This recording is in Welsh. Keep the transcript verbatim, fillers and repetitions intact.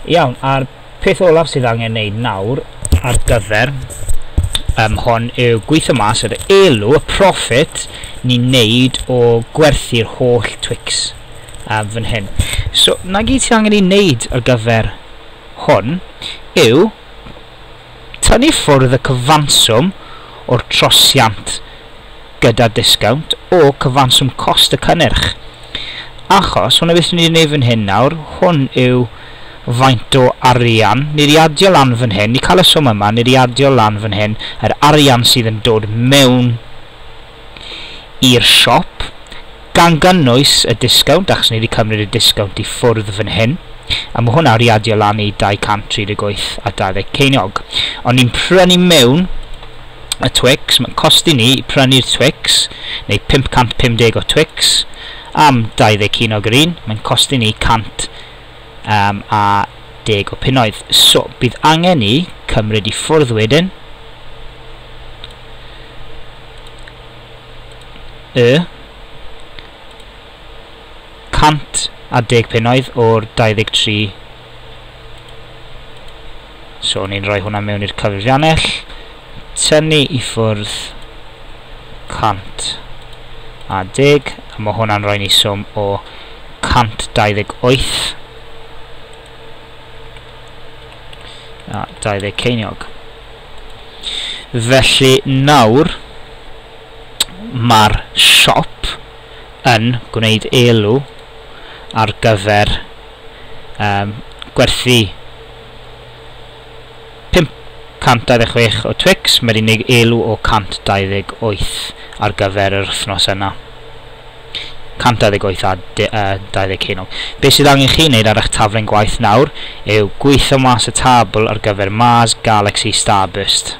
Iawn, a'r peth olaf sydd angen wneud nawr ar gyfer um, hon yw gweithio mas yr elw, y profit ni'n neud o gwerthu'r holl Twix um, fan hyn. So, na gyd sydd angen ei wneud ar gyfer hwn yw tynnu ffwrdd y cyfanswm o'r trosiant gyda disgownt o cyfanswm cost y cynnyrch. Achos, hwnna beth ni'n ei wneud fan hyn nawr, hwn yw faint o arian, ni wedi adio lan fan hyn, ni cael y swm yma, ni wedi adio lan fan hyn, yr arian sydd yn dod mewn i'r siop, gan gynnwys y disgownt, achos ni wedi cymryd y disgownt i ffwrdd fan hyn, a mae hwnna wedi adio lan i dau cant tri deg wyth a dau ddeg ceiniog. Ond ni'n prynu mewn y Twix, mae'n costi ni prynu'r Twix, neu pump cant pum deg o Twix, am dau ddeg ceiniog yr un, mae'n costi ni cant um, a deg o punnoedd. So, bydd angen ni cymryd i ffwrdd wedyn y cant a deg punnoedd o'r dau ddeg tri. So, ni'n rhoi hwnna mewn i'r cyfrifiannell. Tynnu i ffwrdd cant a deg, a mae hwnna'n rhoi ni swm o cant dau ddeg wyth a dau ddeg ceiniog. Felly nawr mae'r siop yn gwneud elw ar gyfer um, gwerthu pump cant dau ddeg chwech o Twix, mae'r unig elw o cant dau ddeg wyth ar gyfer yr wythnos yna. cant dau ddeg wyth a dau ddeg ceiniog. Be sydd angen chi wneud ar eich taflen gwaith nawr yw gweithio mas y tabl ar gyfer Mars, Galaxy, Starburst.